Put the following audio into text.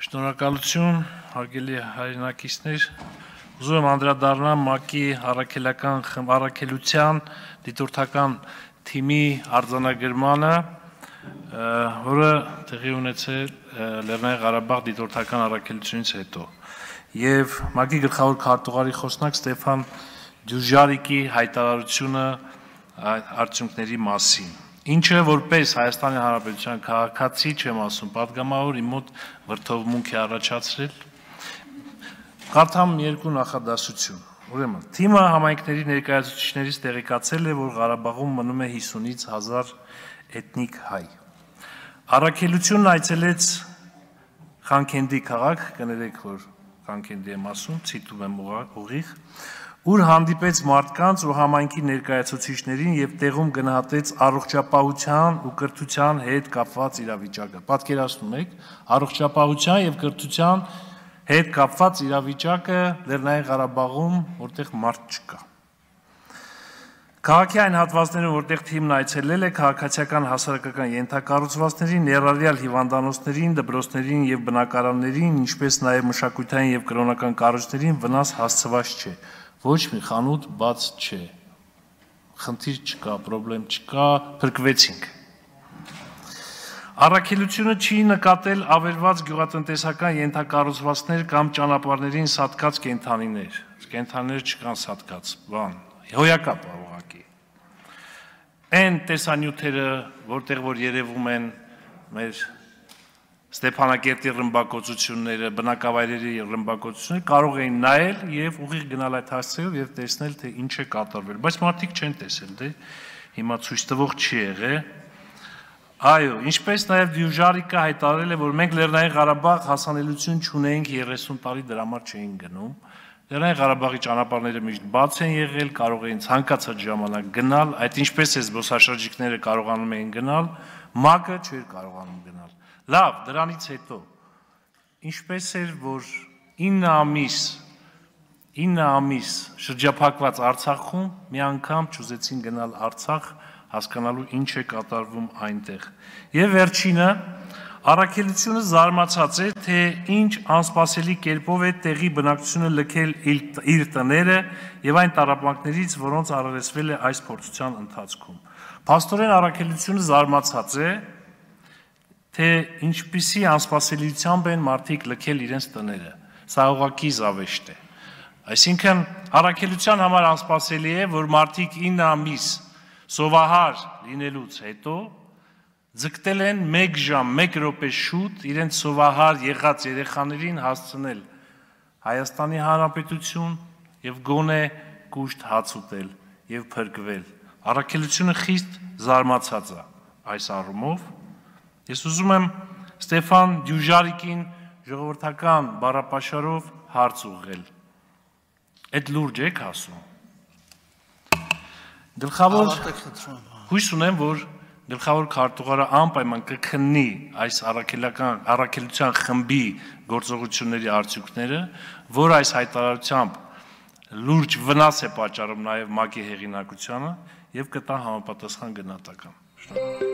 Շնորհակալություն, հարգելի հայրենակիցներ, ուզում եմ անդրադառնալ ՄԱԿ-ի առաքելության դիտորդական թիմի արձանագրմանը, որը տեղի ունեցել Լեռնային Ղարաբաղ դիտորդական առաքելությունից հետո, եւ ՄԱԿ-ի գլխավոր քարտուղարի խոսնակ Ստեփան Դյուժարիկի հայտարարությունը արդյունքների մասին, ինչը որպես Հայաստանի Հանրապետության քաղաքացի չեմ ասում, պատգամավոր իմ մոտ վրդովմունք է առաջացրել, կարդամ երկու նախադասություն, ուրեմն, թիմը համայնքների ներկայացուցիչներից տեղեկացել է, որ Ղարաբաղում մնում է 50-ից 1000 էթնիկ հայ, առաքելությունն այցելեց Խանքենդի քաղաք, կներեք, որ Խանքենդի եմ ասում, ցիտում եմ ուղիղ, ուր հանդիպեց մարդկանց ու համայնքի ներկայացուցիչներին եւ տեղում գնահատեց առողջապահության ու կրթության հետ կապված իրավիճակը։ Պատկերացնում եք, առողջապահության եւ կրթության հետ կապված իրավիճակը Լեռնային Ղարաբաղում, որտեղ մարդ չկա։ Քաղաքի այն հատվածներում, որտեղ թիմն այցելել է, քաղաքացիական հասարակական ենթակառուցվածքներին, ներառյալ հիվանդանոցներին, դպրոցներին եւ բնակարաններին, ինչպես նաեւ մշակութային եւ կրոնական կառույցներին վնաս հասցված չէ։ Ոչ մի խանութ բաց չէ, խնդիր չկա, պրոբլեմ չկա, փրկվեցինք։ Առաքելությունը չի նկատել ավերված գյուղատնտեսական ենթակառուցվածքներ կամ ճանապարհներին սատկած կենդանիներ, կենդանիներ չկան սատկած, հոյակապ ուղղակի։ Այն տեսանյութերը, որտեղ որ երևում են մեր Ստեփանակերտի ռմբակոծությունները, բնակավայրերի ռմբակոծությունները կարող էին նայել եւ ուղիղ գնալ այդ հասցեով եւ տեսնել թե ինչ է կատարվել, բայց մարդիկ չեն տեսել, դե հիմա ցույց տվող չի եղել։ Այո, ինչպես նաեւ Դյուժարիկը հայտարարել է, որ մենք Լեռնային Ղարաբաղ հասանելիություն չունենք 30 տարի դրա համար չէին գնում։ Լեռնային Ղարաբաղի ճանապարհները միշտ բաց են եղել, կարող էին ցանկացած ժամանակ գնալ, այդ ինչպես է զբոսաշրջիկները կարողանում էին գնալ, ՄԱԿ-ը չէր կարողանում գնալ։ Լավ, դրանից հետո, ինչպես էր, որ 9 ամիս շրջափակված Արցախում մի անգամ չուզեցին գնալ Արցախ, հասկանալու ինչ է կատարվում այնտեղ։ Եվ վերջինը, առաքելությունը զարմացած է, թե ինչ անսպասելի կերպով է տեղի բնակչությունը լքել իր տները եւ այն տառապանքներից, որոնց առերեսվել է այս փորձության ընթացքում։ Փաստորեն առաքելությունը զարմացած է, թե ինչպիսի անսպասելիությամբ են մարդիկ լքել իրենց տները, սա ուղղակի զավեշտ է։ Այսինքն առաքելության համար անսպասելի է, որ մարդիկ 9 ամիս սովահար լինելուց հետո ձգտել են 1 ժամ, 1 րոպե շուտ իրենց սովահար եղած երեխաներին հասցնել Հայաստանի Հանրապետություն եւ գոնե կուշտ հաց ուտել եւ փրկվել։ Առաքելությունը խիստ զարմացած է այս առումով։ Ես ուզում եմ Ստեփան Դյուժարիկին ժողովրդական բառապաշարով հարց ուղղել։ Այդ լուրջ եք ասում։ Հույս ունեմ, որ գլխավոր քարտուղարը անպայման կքննի այս առաքելության խմբի գործողությունների արդյունքները, որ այս հայտարարությամբ լուրջ վնաս է պատճառում նաև ՄԱԿ-ի հեղինակությանը եւ կտա համապատասխան գնահատական։